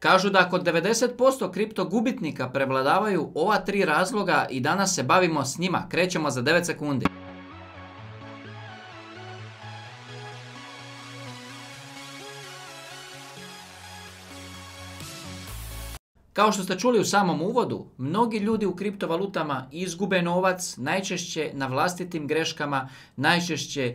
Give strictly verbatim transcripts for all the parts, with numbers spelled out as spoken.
Kažu da kod devedeset posto kripto gubitnika prevladavaju ova tri razloga i danas se bavimo s njima. Krećemo za devet sekundi. Kao što ste čuli u samom uvodu, mnogi ljudi u kriptovalutama izgube novac, najčešće na vlastitim greškama, najčešće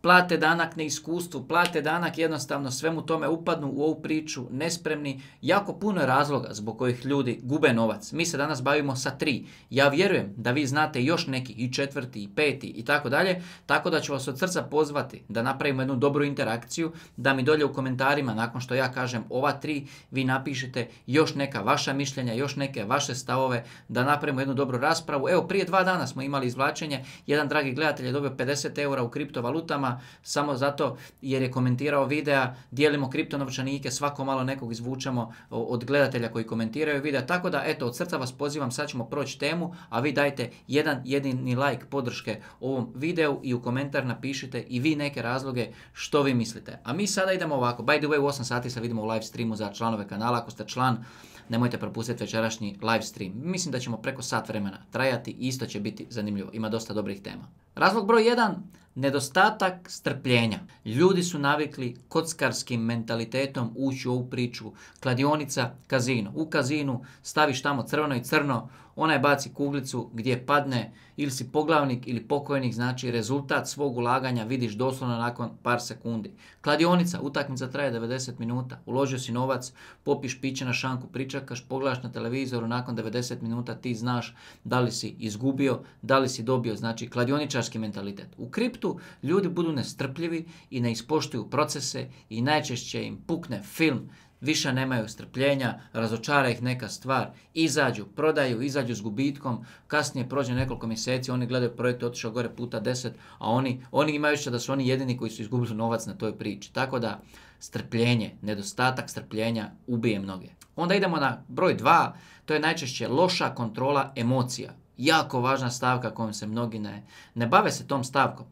plate danak neiskustvu, plate danak jednostavno svemu tome upadnu u ovu priču, nespremni. Jako puno je razloga zbog kojih ljudi gube novac. Mi se danas bavimo sa tri. Ja vjerujem da vi znate još neki, i četvrti, i peti, i tako dalje, tako da ću vas od srca pozvati da napravimo jednu dobru interakciju, da mi dolje u komentarima, nakon što ja kažem ova tri, vi napišete još neka vaša mišljenja, još neke vaše stavove, da napravimo jednu dobru raspravu. Evo, prije dva dana smo imali izvlačenje, jedan dragi gledatelj je dobio pedeset eura u kriptovalutama, samo zato jer je komentirao videa, dijelimo kriptonovčanike, svako malo nekog izvučemo od gledatelja koji komentiraju videa, tako da eto, od srca vas pozivam, sad ćemo proći temu, a vi dajte jedan jedini like podrške ovom videu i u komentar napišite i vi neke razloge što vi mislite. A mi sada idemo ovako, by the way u osam sati se vidimo u live streamu za članove kanala, ako ste član nemojte propustiti večerašnji live stream. Mislim da ćemo preko sat vremena trajati i isto će biti zanimljivo. Ima dosta dobrih tema. Razlog broj jedan. Nedostatak strpljenja. Ljudi su navikli kockarskim mentalitetom ući u ovu priču. Kladionica, kazino. U kazinu staviš tamo crveno i crno, onaj baci kuglicu gdje padne, ili si poglavnik ili pokojnik, znači rezultat svog ulaganja vidiš doslovno nakon par sekundi. Kladionica, utakmica traje devedeset minuta, uložio si novac, popiš piće na šanku, pričakaš, pogledaš na televizoru, nakon devedeset minuta ti znaš da li si izgubio, da li si dobio, znači kladioničarski mentalitet. U kriptu ljudi budu nestrpljivi i ne ispoštuju procese i najčešće im pukne film, više nemaju strpljenja, razočara ih neka stvar, izađu, prodaju, izađu s gubitkom, kasnije prođe nekoliko mjeseci, oni gledaju projekt, otišao gore puta deset, a oni, oni imaju što da su oni jedini koji su izgubili novac na toj priči. Tako da strpljenje, nedostatak strpljenja ubije mnoge. Onda idemo na broj dva, to je najčešće loša kontrola emocija. Jako važna stavka kojom se mnogi ne, ne bave se tom stavkom.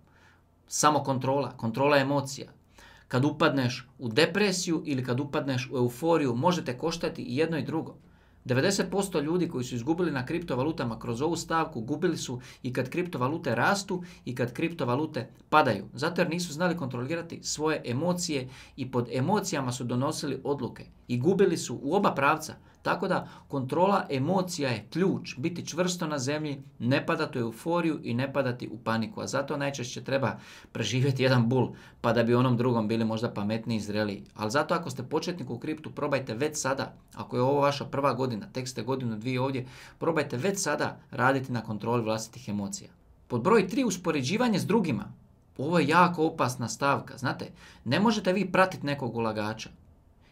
Samo kontrola, kontrola emocija. Kad upadneš u depresiju ili kad upadneš u euforiju, možete koštati i jedno i drugo. devedeset posto ljudi koji su izgubili na kriptovalutama kroz ovu stavku gubili su i kad kriptovalute rastu i kad kriptovalute padaju. Zato jer nisu znali kontrolirati svoje emocije i pod emocijama su donosili odluke i gubili su u oba pravca. Tako da kontrola emocija je ključ, biti čvrsto na zemlji, ne padati u euforiju i ne padati u paniku. A zato najčešće treba preživjeti jedan bul pa da bi onom drugom bili možda pametniji i zreliji. Ali zato ako ste početnik u kriptu, probajte već sada, ako je ovo vaša prva godina, tek ste godinu, dvije ovdje, probajte već sada raditi na kontroli vlastitih emocija. Pod broj tri, uspoređivanje s drugima. Ovo je jako opasna stavka. Znate, ne možete vi pratiti nekog ulagača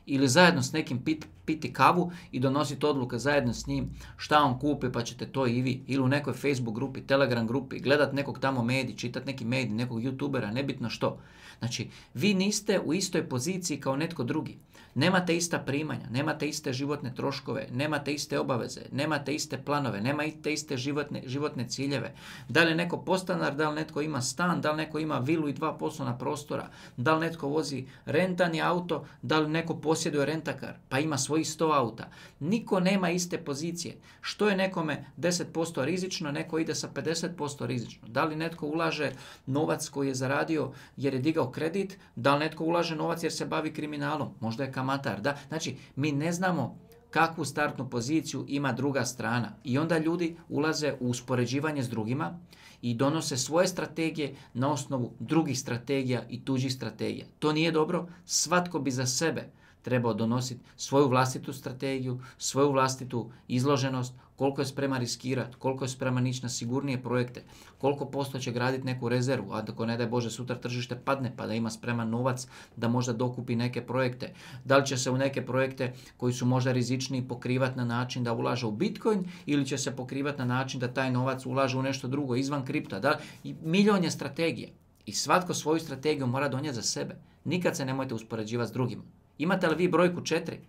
ili zajedno s nekim pit, piti kavu i donositi odluke zajedno s njim šta on kupi pa ćete to i vi. Ili u nekoj Facebook grupi, Telegram grupi, gledat nekog tamo medij, čitat neki medij, nekog youtubera, nebitno što. Znači, vi niste u istoj poziciji kao netko drugi. Nemate ista primanja, nemate iste životne troškove, nemate iste obaveze, nemate iste planove, nemate iste životne, životne ciljeve. Da li je neko podstanar, da li netko ima stan, da li neko ima vilu i dva poslovna prostora, da li netko vozi rentani auto, da li neko posjeduje rentakar, pa ima svojih sto auta. Niko nema iste pozicije. Što je nekome deset posto rizično, neko ide sa pedeset posto rizično. Da li netko ulaže novac koji je zaradio jer je digao kredit, da li netko ulaže novac jer se bavi kriminalom, možda je kamatar. Da? Znači, mi ne znamo kakvu startnu poziciju ima druga strana i onda ljudi ulaze u uspoređivanje s drugima i donose svoje strategije na osnovu drugih strategija i tuđih strategija. To nije dobro, svatko bi za sebe trebao donositi svoju vlastitu strategiju, svoju vlastitu izloženost, koliko je spreman riskirati, koliko je spreman ići na sigurnije projekte, koliko posto će graditi neku rezervu, a ako ne daj Bože sutra tržište padne pa da ima spreman novac da možda dokupi neke projekte. Da li će se u neke projekte koji su možda rizičniji pokrivati na način da ulaže u Bitcoin ili će se pokrivati na način da taj novac ulaže u nešto drugo izvan kripta. Da? I milion je strategije i svatko svoju strategiju mora donijeti za sebe. Nikad se nemojte uspoređivati s drugima. Imate li vi brojku četiri?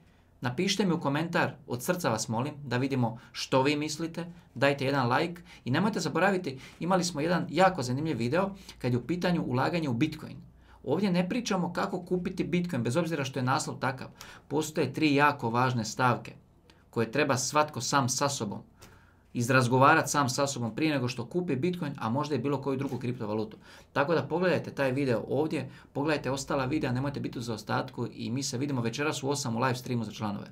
Napišite mi u komentar, od srca vas molim, da vidimo što vi mislite, dajte jedan like i nemojte zaboraviti, imali smo jedan jako zanimljiv video kad je u pitanju ulaganje u Bitcoin. Ovdje ne pričamo kako kupiti Bitcoin, bez obzira što je naslov takav. Postoje tri jako važne stavke koje treba svatko sam sa sobom izrazgovarati sam sa sobom prije nego što kupi Bitcoin, a možda i bilo koju drugu kriptovalutu. Tako da pogledajte taj video ovdje, pogledajte ostala videa, nemojte biti u zaostatku i mi se vidimo večeras u osam u live streamu za članove.